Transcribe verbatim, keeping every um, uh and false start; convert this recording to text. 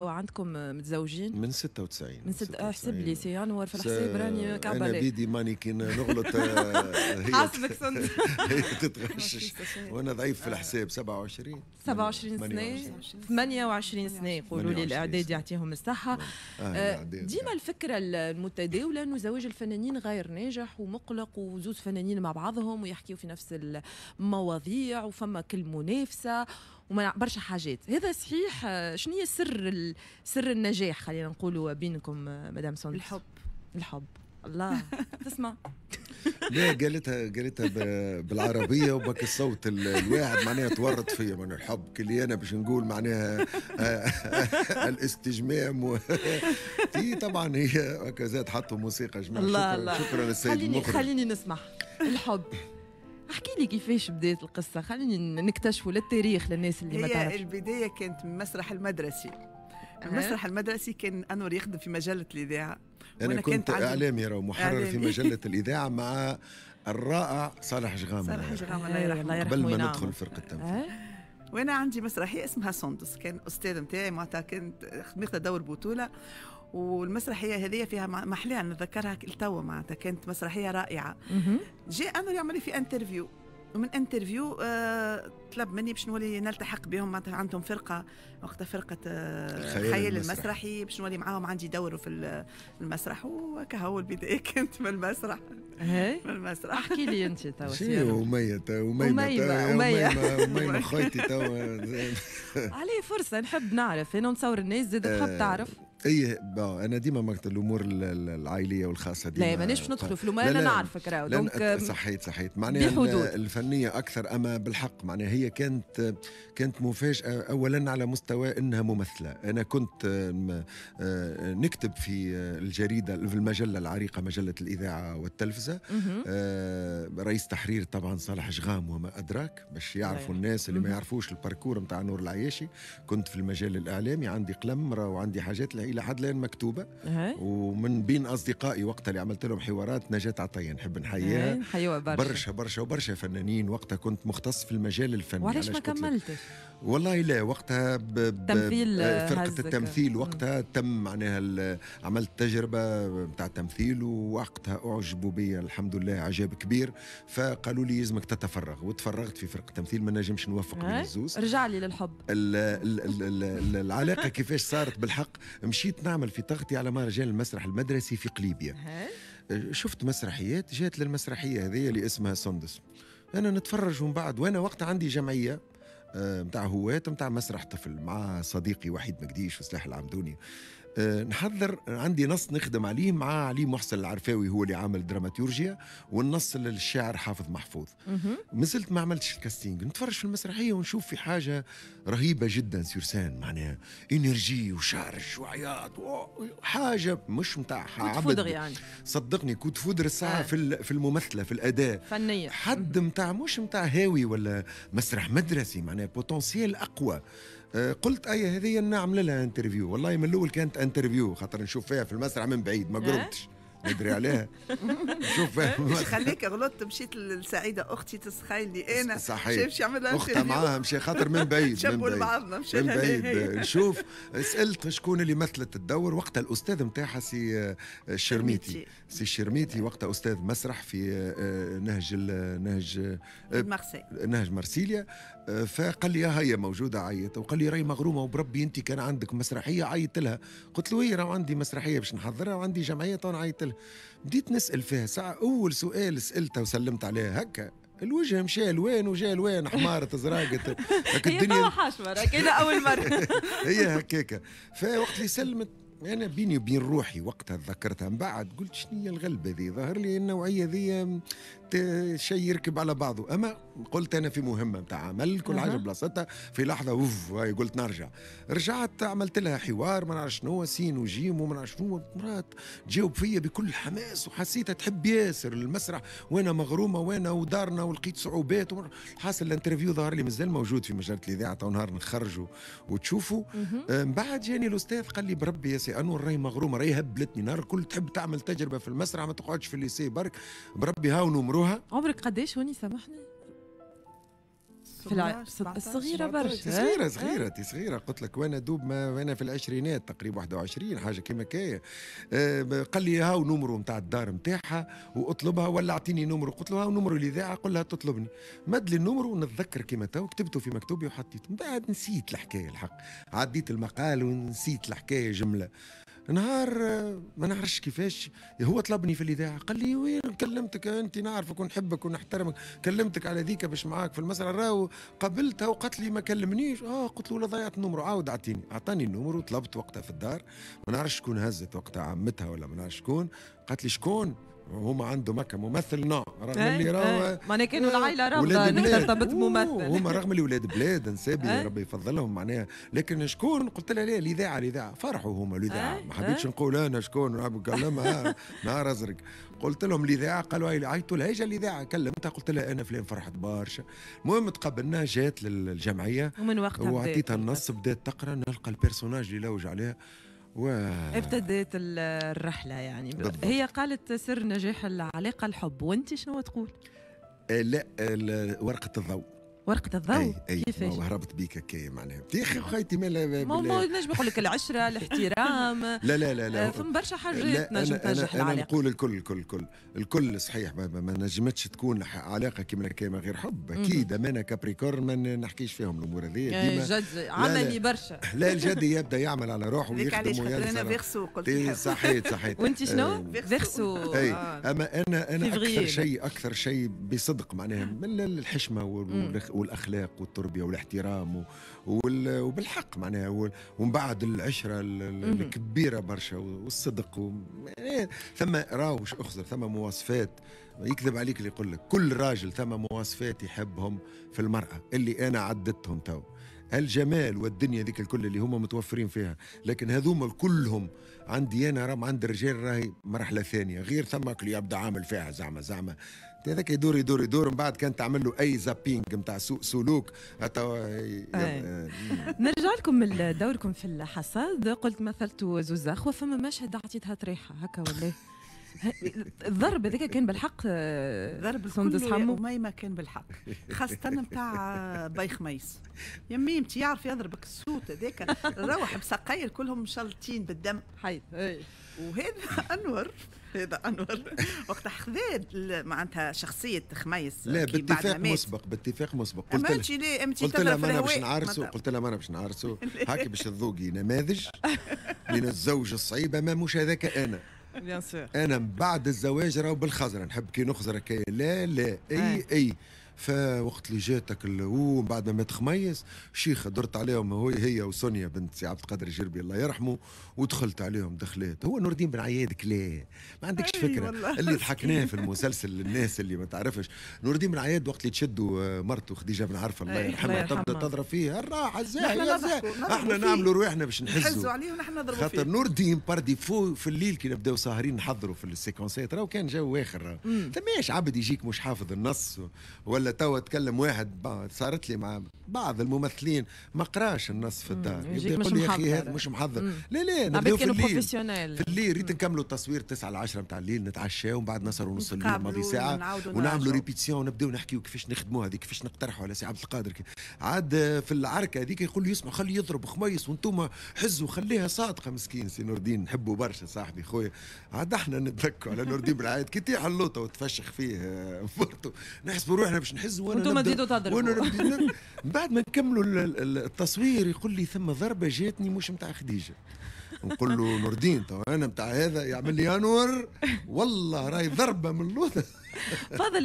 عندكم متزوجين؟ من ستة وتسعين. من ست... احسب لي سي انور في الحساب راني كعبه. انا بيدي ماني كي نغلط هي حاسبك سند هي تتغشش وانا ضعيف في الحساب. سبعة وعشرين سبعة وعشرين سنة، ثمانية وعشرين سنة يقولوا لي الاعداد يعطيهم الصحة. آه ديما الفكرة المتداولة انه زواج الفنانين غير ناجح ومقلق، وزوز فنانين مع بعضهم ويحكيوا في نفس المواضيع وفما كل منافسه وما برشا حاجات. هذا صحيح؟ شنو هي سر سر النجاح خلينا نقولوا بينكم مدام سندس؟ الحب. الحب. الله تسمع. لا قالتها قالتها بالعربية وبك الصوت الواحد معناها تورط فيا من الحب كلي انا باش نقول معناها الاستجمام و... طبعا هي هكذا حطوا موسيقى جماعة. الله شكرا الله. شكرا للسيد خليني المخرج. خليني نسمع الحب. احكي لي كيفاش بدات القصة، خليني نكتشفوا للتاريخ للناس اللي ما تعرفش. هي البداية كانت من المسرح المدرسي. المسرح المدرسي كان انور يخدم في مجلة الاذاعة. انا كنت اعلامي ومحرر في مجلة الاذاعة مع الرائع صالح جغام. صالح جغام الله يرحمه. قبل ما ندخل فرقه التمثيل. وانا عندي مسرحية اسمها سندس، كان استاذ نتاعي معناتها كانت ماخذه دور بطوله، والمسرحيه هذه فيها محلاها نتذكرها لتوا معناتها كانت مسرحية رائعة. جاء انور يعمل لي في interview، ومن interview آه طلب مني باش نولي نلتحق بهم، معناتها عندهم فرقه وقتها فرقه آه الخيال المسرحي باش نولي معاهم، عندي دور في المسرح. وكهو البداية كانت من المسرح. من المسرح. احكي لي انت توا. شنو أمية أميمة أميمة أميمة خيتي توا. عليه فرصة نحب نعرف، انا نتصور الناس زاد تحب تعرف. اي انا ديما مقت الامور العائلية والخاصة ديما. لا مانيش باش ندخلوا في الامور، انا نعرفك راهو donc صحيت صحيت معناها الفنية اكثر. اما بالحق معناها هي كانت كانت مفاجاة اولا على مستوى انها ممثلة. انا كنت نكتب في الجريدة في المجلة العريقه مجلة الاذاعة والتلفزه، رئيس تحرير طبعا صالح جغام وما ادراك، باش يعرفوا الناس اللي ما يعرفوش ال parcours نتاع نور العياشي. كنت في المجال الاعلامي عندي قلم وعندي حاجات الى حد الان مكتوبة. أه. ومن بين اصدقائي وقتها اللي عملت لهم حوارات نجاة عطية نحب نحييها. نحيوها برشا برشا برشا وبرشا فنانين. وقتها كنت مختص في المجال الفني. وعلاش ما كملتش؟ والله لا وقتها ب... ب... تمثيل فرقه التمثيل وقتها تم معناها عملت تجربه نتاع تمثيل، ووقتها اعجبوا بي الحمد لله اعجاب كبير، فقالوا لي لازمك تتفرغ، وتفرغت في فرقه التمثيل. ما نجمش نوفق بين الزوز. رجع لي للحب. ال... ال... ال... العلاقة كيفاش صارت بالحق، مشيت نعمل في تغطية على مهرجان المسرح المدرسي في قليبيا. شفت مسرحيات، جات للمسرحية هذه اللي اسمها سندس. أنا نتفرج ومن بعد، وأنا وقتها عندي جمعية متاع هواة متاع مسرح طفل مع صديقي وحيد مقديش وسلاح العمدوني. نحضر عندي نص نخدم عليه مع علي محسن العرفاوي هو اللي عامل دراماتورجيا، والنص للشاعر حافظ محفوظ. مازلت ما عملتش ال casting. نتفرج في المسرحية ونشوف في حاجة رهيبة جدا sur scène، معناها énergie و charge وعياط حاجة مش نتاع عبد يعني. صدقني coup de foudre الساعة آه. في في الممثلة في الاداء فنية حد نتاع مش نتاع هاوي ولا مسرح مدرسي، معناها potentiel اقوى. قلت اي هذه نعمل لها interview. والله من الاول كانت interview خاطر نشوف فيها في المسرح من بعيد ما قربتش ندري عليها. نشوف فيها. خليك غلطت مشيت لسعيده اختي تسخيل لي انا صحيح مشي عمل اختها معاها مشي خاطر من بعيد من بعيد بعضنا مشي من بعيد نشوف. سالت شكون اللي مثلت الدور وقتها، الاستاذ نتاعها سي الشرميتي. سي الشرميتي وقتها استاذ مسرح في نهج نهج مارسيل نهج مارسيليا. فقال لي هيا موجودة عيط، وقال لي راهي مغرومه وبربي انت كان عندك مسرحية عيط لها. قلت له ايه راه عندي مسرحية باش نحضرها وعندي جمعية تو نعيط لها. بديت نسال فيها ساعة. اول سؤال سالته وسلمت عليه هكا الوجه مشى الوان وجا الوان حمارت زراقت الدنيا. هي حاشمه راك اول مرة هي هكاكا. فوقت اللي سلمت انا بيني وبين روحي وقتها تذكرتها من بعد، قلت شنو هي الغلبة ذي؟ ظهر لي النوعية ذي شيء يركب على بعضه. اما قلت انا في مهمة نتاع عمل كل حاجة بلاصتها. في لحظة اوف هاي قلت نرجع. رجعت عملت لها حوار ما نعرف شنو سين وجيم وما نعرف شنو، مرات تجاوب فيا بكل حماس وحسيتها تحب ياسر المسرح وانا مغرومه وانا ودارنا ولقيت صعوبات. حاصل ال interview ظهر لي مازال موجود في مجلة الاذاعة تو نهار نخرجوا وتشوفوا. من بعد جاني الاستاذ قال لي بربي يا سي انور راهي مغرومه راهي هبلتني نهار الكل تحب تعمل تجربه في المسرح ما تقعدش في ال lycée برك، بربي هاو نمروها. عمرك قداش هوني سامحني؟ في الصغيرة برشا، صغيرة صغيرة صغيرة قلت لك، وانا دوب ما وانا في العشرينات تقريبا واحد وعشرين حاجة كيما كاية. أه قال لي هاو numéro نتاع الدار نتاعها واطلبها ولا اعطيني numéro. قلت له هاو numéro الاذاعة، قل لها تطلبني. مد لي ال numéro ونتذكر كيما تو كتبته في مكتوبي وحطيته. من بعد نسيت الحكاية الحق، عديت المقال ونسيت الحكاية جملة. نهار ما نعرفش كيفاش هو طلبني في الاذاعة، قال لي وين كلمتك انت، نعرفك ونحبك ونحترمك، كلمتك على ذيك باش معاك في المسرح، راهو قابلتها وقالت لي ما كلمنيش. اه قلت له لا ضيعت ال numéro، عاود اعطيني. اعطاني ال numéro وطلبت وقتها في الدار، ما نعرفش شكون هزت وقتها، عمتها ولا ما نعرفش شكون. قالت لي شكون؟ هما عندهم هكا ممثل non، رغم اللي راهو معناها كانوا العائلة رافضه انك ترتبط ممثل، هما رغم اللي ولاد بلاد نسابي ربي يفضلهم معناها، لكن شكون؟ قلت لها لا الاذاعة الاذاعة. فرحوا هما الاذاعة، ما حبيتش نقول انا شكون نكلمها نهار ازرق. قلت لهم الاذاعة، قالوا عيطوا لها، اجا الاذاعة. كلمتها قلت لها انا فلان، فرحت برشا. المهم تقابلنا، جات للجمعية ومن وقتها وعطيتها النص، بدات تقرا، نلقى ال personnage اللي لوج عليها و... ابتدت الرحلة يعني. بالضبط. هي قالت سر نجاح العلاقة الحب، وانت شنو تقول؟ آه لا، ورقة الضوء. ورقة الضوء؟ كيفاش؟ هربت بيك هكايا معناها يا اخي خيتي. ما ما نجم نقول لك العشرة، الاحترام. لا لا لا لا، فما برشا حاجات نجم تنجح العلاقة. انا نقول الكل الكل الكل الكل صحيح، ما, ما نجمتش تكون علاقة كيما كيما غير حب اكيد. انا Capricorne ما نحكيش فيهم الامور هذه ديما جد عملي برشا. لا الجد يبدا يعمل على روحه ويخدم وينسى. انا Verseau قلت. صحيت صحيت. وانت شنو؟ Verseau. اي اما انا انا اكثر شيء اكثر شيء بصدق معناها من الحشمة والاخلاق والتربية والاحترام وبالحق معناها، ومن بعد العشرة الكبيرة برشا والصدق و... ثم راهو اخزر، ثم مواصفات يكذب عليك اللي يقول لك كل راجل ثم مواصفات يحبهم في المراة اللي انا عددتهم تو، الجمال والدنيا ذيك الكل اللي هما متوفرين فيها، لكن هذوما كلهم عندي انا راهم عند الرجال راهي مرحلة ثانية، غير ثم اللي يبدا عامل فيها زعما زعما هذاك يدور يدور يدور، من بعد كان تعمل له اي zapping نتاع سوء سلوك. نرجع لكم من دوركم في الحصاد، قلت مثلتوا زوز اخوه، فما مشهد عطيتها طريحه هكا ولا الضرب هذاك كان بالحق؟ ضرب سندس حمو ما كان بالحق، خاصة نتاع باي خميس يا ميمتي يعرف يضربك الصوت هذاك، روح بسقاير كلهم مشلطين بالدم حي. وهذا انور، هذا انور وقت خذا معناتها شخصية خميس. لا باتفاق مسبق، باتفاق مسبق. قلت لها قلت لها ما انا باش نعرسوا، قلت لها ما انا باش نعرسوا هاكي باش تذوقي نماذج من الزوج الصعيبه، ما مش هذاك انا. bien sûr انا من بعد الزواج راهو بالخزره، نحب كي نخزر هكايا لا لا اي اي. فوقت اللي جاتك ومن بعد ما مات خميس شيخه درت عليهم هو هي وسونيا بنت سي عبد القادر الجربي الله يرحمه، ودخلت عليهم دخلات. هو نور الدين بن عياد كلاه ما عندكش فكرة اللي ضحكناه في المسلسل للناس اللي ما تعرفش. نور الدين بن عياد وقت اللي تشدوا مرته خديجة بن عرفه الله يرحمها تبدا تضرب فيه الراحة الزاهيه احنا نعملوا رواحنا باش نحزوا عليه ونحن نضربوا فيه، خاطر نور الدين par défaut في الليل كي نبداو ساهرين نحضروا في ال séquences ات راهو كان جو اخر. ثماش عبد يجيك مش حافظ النص ولا توا تكلم واحد، صارت لي مع بعض الممثلين ما قراش النص في الدار، يبدا يقول لي يا اخي هذا مش محضر. لا لا نبداو في الليل، في الليل ريت نكملوا التصوير تسعة ل عشرة نتاع الليل، نتعشاو ومن بعد نسهروا نص الليل ماضي ساعة ونعملوا répétition ونبداو نحكيو كيفاش نخدموا هذه، كيفاش نقترحوا على سي عبد القادر. عاد في العركه هذيك يقول لي اسمع خليه يضرب خميس وانتم حزوا خليها صادقة. مسكين سي نور الدين نحبه برشا صاحبي خويا، عاد احنا نتذكروا على نور الدين بالعاد كي تيح اللوطه وتفشخ فيه مرته نحسبوا روحنا باش نحز وانتم تزيدوا تضربوا. وانا بعد ما نكملوا التصوير يقول لي ثم ضربه جاتني مش نتاع خديجة، نقول له نور الدين تو انا نتاع هذا، يعمل لي انور والله راهي ضربه من اللوطه. فضل